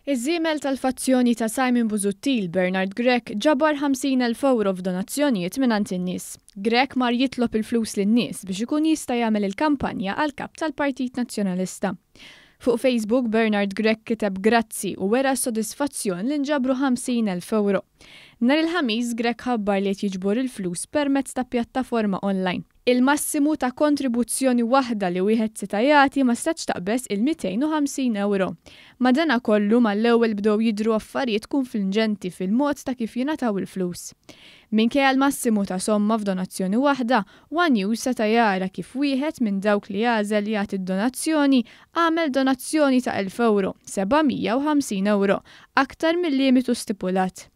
Iż-żiemel tal-fazzjoni ta' Simon Busuttil, Bernard Grech, ġabar 50,000 ewro f'donazzjonijiet mingħand in-nies. Grech mar jitlob il-flus lin-nies biex ikun jista' jagħmel il-kampanja għal kap tal-Partit Nazzjonalista. Fuq Facebook, Bernard Grech kiteb grazzi u wera s-sodisfazzjon li nġabru 50,000 ewro. Nhar il-Ħamis, Grech ħabbar li qed jiġbor il-flus permezz ta' pjattaforma online. Il-massimu ta' kontribuzzjoni waħda li wieħed seta' jagħti ma setgħetx taqbeż il-250 ewro. Madanakollu, mal-ewwel bdew jidhru affarijiet kunflinġenti fil-mod ta' kif jingħataw il-flus. Minkejja l-massimu ta' somma f'donazzjoni waħda, one News seta' jara kif wieħed minn dawk li għażel jagħti d-donazzjoni għamel donazzjoni ta' 1,000 ewro, 750 ewro, aktar mil-limitu stipulat.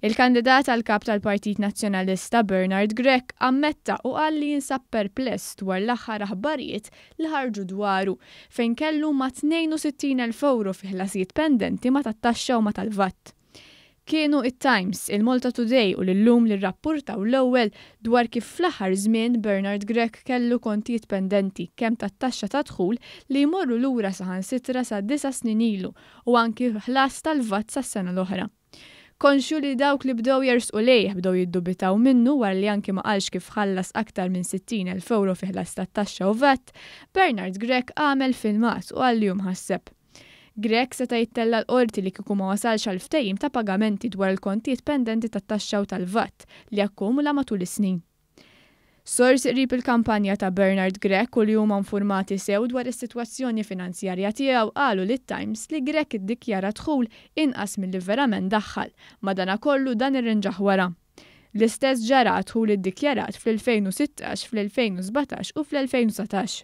Il-kandidat għal kap tal-Partit Nazzjonalista Bernard Grech ammetta u qal li jinsab perpless dwar l-aħħar aħbarijiet li ħarġu dwaru fejn kellu ma' 62,000 ewro fi ħlasijiet pendenti ma' tat-taxxa u ma' tal-VAT. Kienu it-Times, il-Malta Today u l-Illum li rrappurtaw l-ewwel dwar kif fl-aħħar żmien Bernard Grech kellu kontijiet pendenti kemm tat-taxxa ta' dħul li jmorru lura saħansitra sa 9 snin ilu u anki ħlas tal-VAT sas-sena l-oħra. Konxju li dawk li bdew jersqu lejh bdew jiddubitaw minnu wara li anki ma qalx kif ħallas aktar minn 60,000 euro fi ħlas tat-taxxa u VAT, Bernard Grech għamel filmat u qal li hu mħasseb. Grech seta' jittella l-qorti li kieku ma wasalx għal ftehim ta' pagamenti dwar il-kontijiet pendenti tat-taxxa u tal-VAT li akkumula matul is-snin. Sorsi qrib il-kampanja ta' Bernard Grech u li huma informati sew dwar is-sitwazzjoni finanzjarja tiegħu qalu lit-Times li Grech iddikjara dħul inqas milli verament daħħal, madanakollu dan irrinġah wara. L-istess ġara dħul iddikjarat fl-2016, fl-2017 u fl-2019.